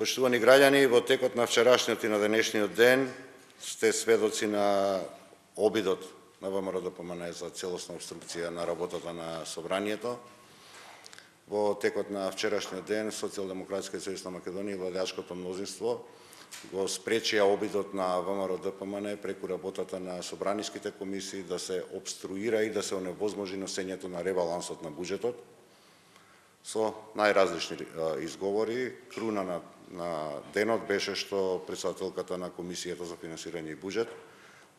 Почитувани граѓани, во текот на вчерашниот и на денешниот ден сте сведоци на обидот на ВМРО-ДПМНЕ за целосна обструкција на работата на Собранието. Во текот на вчерашниот ден Социјалдемократска сојузна Македонија и владеачкото мнозинство го спречија обидот на ВМРО-ДПМНЕ преку работата на собраниските комисии да се обструира и да се оневозможи носењето на ребалансот на буџетот со најразлични изговори. Круна на денот беше што претседателката на Комисијата за финансирање и буџет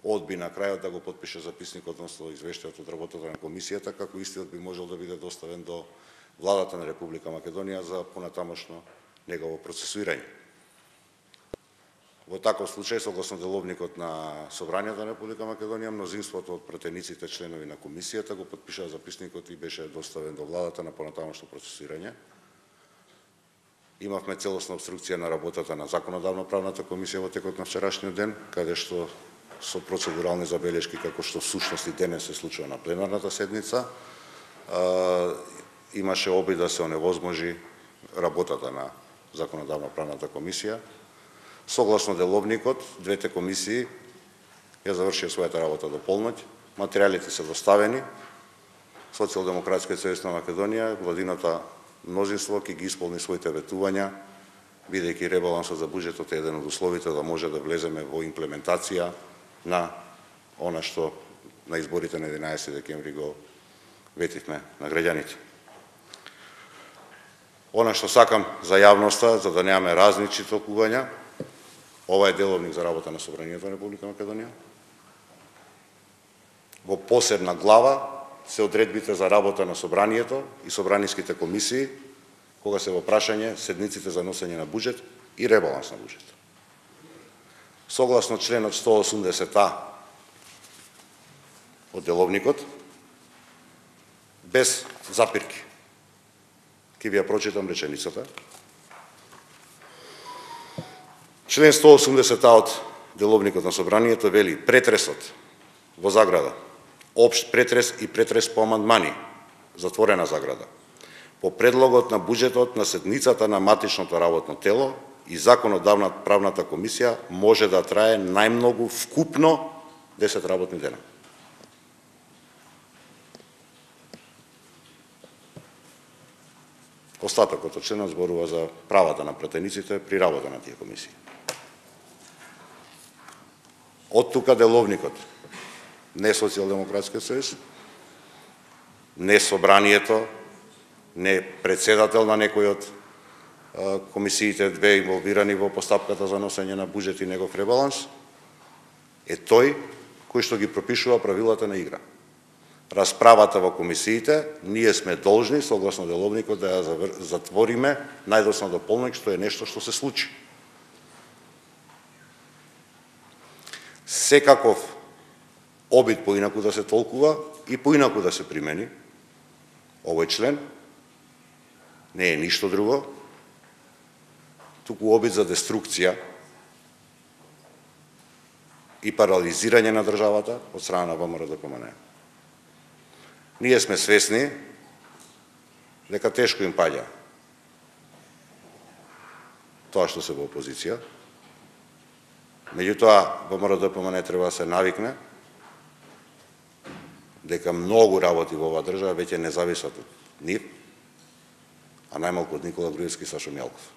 одби на крајот да го потпише записникот, односно извештајот од работата на Комисијата, како истиот би можел да биде доставен до Владата на Република Македонија за понатамошно негово процесуирање. Во таков случај, согласно деловникот на Собранието на Република Македонија, мнозинството од пратениците членови на Комисијата го потпишаа записникот и беше доставен до Владата на понатамошно процесуирање. Имавме целосна обструкција на работата на Законодавно-правната комисија во текот на вчерашниот ден, каде што со процедурални забелешки, како што всушност и денес се случува на пленарната седница, имаше обид да се оневозможи работата на Законодавно-правната комисија. Согласно деловникот, двете комисии ја завршија својата работа до полноќ, материјалите се доставени, Социјалдемократска сојуз на Македонија, владиното мнозинство ќе ги исполни своите ветувања, бидејќи ребалансот за буџетот е еден од условите да може да влеземе во имплементација на она што на изборите на 11 декември го ветивме на граѓаните. Она што сакам за јавноста, за да немаме различни толкувања, ова е деловник за работа на Собранието на Република Македонија. Во посебна глава се одредбите за работа на Собранието и собраниските комисии, кога се во прашање седниците за носење на буџет и ребаланс на буџет. Согласно членот 180а од деловникот, без запирки, ќе ви ја прочитам реченицата. Член 180а од деловникот на Собранието вели: претресот во заграда, општ претрес и претрес по амандмани, затворена заграда, по предлогот на буџетот на седницата на матичното работно тело и Законодавно-правната комисија може да трае најмногу вкупно 10 работни дена. Остатокот од членот зборува за правата на пратениците при работа на тие комисии. Од тука деловникот, не Социјалдемократска сојуз, не Собранието, не председател на некој од комисиите две инволвирани во постапката за носење на буџет и негов ребаланс, е тој кој што ги пропишува правилата на игра. Расправата во комисиите, ние сме должни, согласно деловникот, да ја затвориме најдосно до полноќ, што е нешто што се случи. Секаков обид поинаку да се толкува и поинаку да се примени овој член не е ништо друго, туку обид за деструкција и парализирање на државата од страна на ВМРО-ДПМНЕ. Ние сме свесни дека тешко им паѓа тоа што се во опозиција, меѓутоа ВМРО-ДПМНЕ треба да се навикне дека многу работи во оваа држава веќе не зависат од нив, а најмалку од Никола Груевски и Сашо Мјалков.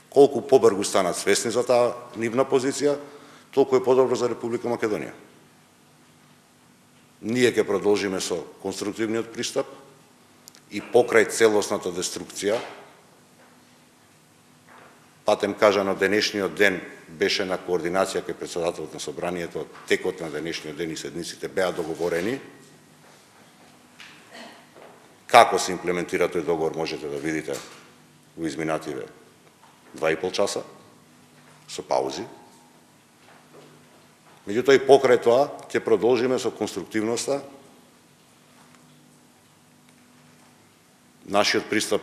Колку побрзо станат свесни за таа нивна позиција, толку е подобро за Република Македонија. Ние ќе продолжиме со конструктивниот пристап и покрај целосната деструкција. Патем кажано, денешниот ден беше на координација кај председателот на Собранието, текот на денешниот ден и седниците беа договорени. Како се имплементира тој договор можете да видите во изминативе 2,5 часа, со паузи. Меѓутоа и покрај тоа ќе продолжиме со конструктивноста. Нашиот пристап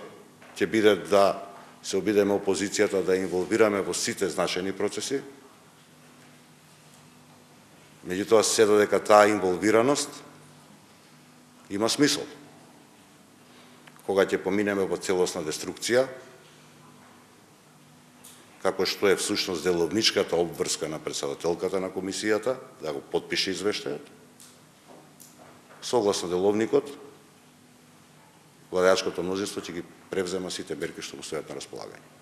ќе биде да се обидеме опозицијата да инволвираме во сите значајни процеси. Меѓутоа се додека таа инволвираност има смисол. Кога ќе поминеме во целосна деструкција, како што е всушност деловничката обврска на претседателката на комисијата, да го потпише извештајот. Согласно деловникот, владеачкото мнозинство ќе ги превзема сите мерки што му стојат на располагање.